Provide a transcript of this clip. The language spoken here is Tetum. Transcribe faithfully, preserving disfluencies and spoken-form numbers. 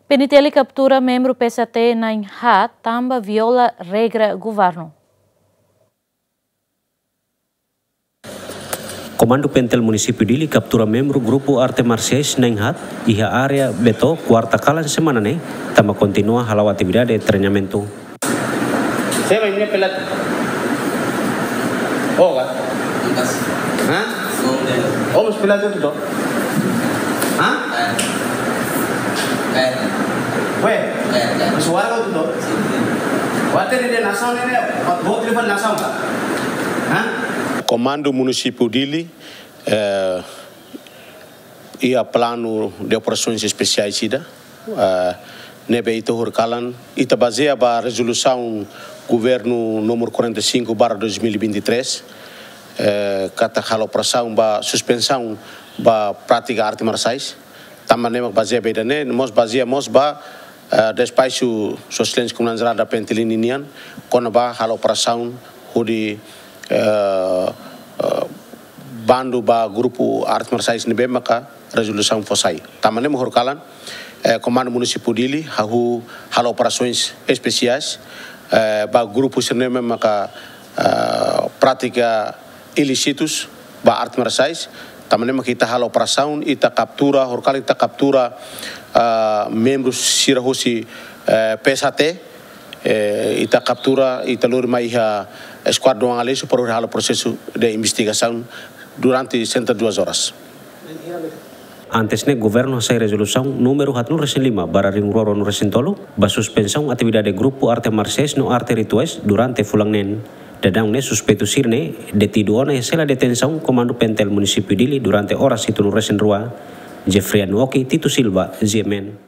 PNTL kaptura membru P S A T na'in-haat tanba viola regra governu. Komandu PNTL Munisípiu Dili kaptura membru grupu arte marsiais na'in-haat iha área Beto, kuarta kalan semana ne'e, tanba kontinua hala'o atividade treinamentu. Seba ini pelat. Oh, ka? Hah? Oh, mas pelat itu toh. Hah? Weh, suara kau tu toh. Water ini nasaun ini, buat level nasaun ka? Hah? Komandu Munisípiu Dili, eh, iha planu de operasoens espesiais ida, eh, ne'ebé ita horikalan, ita bazeia ba rezolusaun governu númeru quarenta e cinco barra dois mil e vinte e três, eh, katak halo operasaun ba suspensaun ba prátika arte marsiais. Tanba ne'e mak bazeia ba ida-ne'e, mós bazeia mós ba, eh, despaxu Sua Exelénsia Komandante Jerál da PNTL ninian, kona-ba halo operasaun hodi, eh, eh, bandu ba grupu arte marsiais ne'ebé maka rezolusaun fó sai. Tanba ne'e mak horikalan, eh, Komandu Munisípiu Dili, hahú halo operasoens espesiais, eh, ba grupu sira-ne'e maka, eh, prátika ilísitus ba arte marsiais. Tanba ne'e mak ita halo operasaun, ita kaptura, horikalan ita kaptura, eh, membru sira husi, eh, P S A T, eh, ita kaptura, ita lori mai iha Eskuadra Aduana Aleixo para halo prosesu de investigasaun durante sessenta e duas horas. Antes ne'e, governu hasai rezolusaun númeru haatnulu-resin-lima barra rihun rua ruanulu-resin-tolu, ba suspensaun atividade grupu arte marsiais no arte rituais durante fulan neen. Daudaun ne'e suspeitu sira-ne'e detidu ona iha sela detensaun Komandu PNTL Munisípiu Dili durante oras hitunulu-resin-rua. Jeffrey Anuoki, Tito Silva, G M N.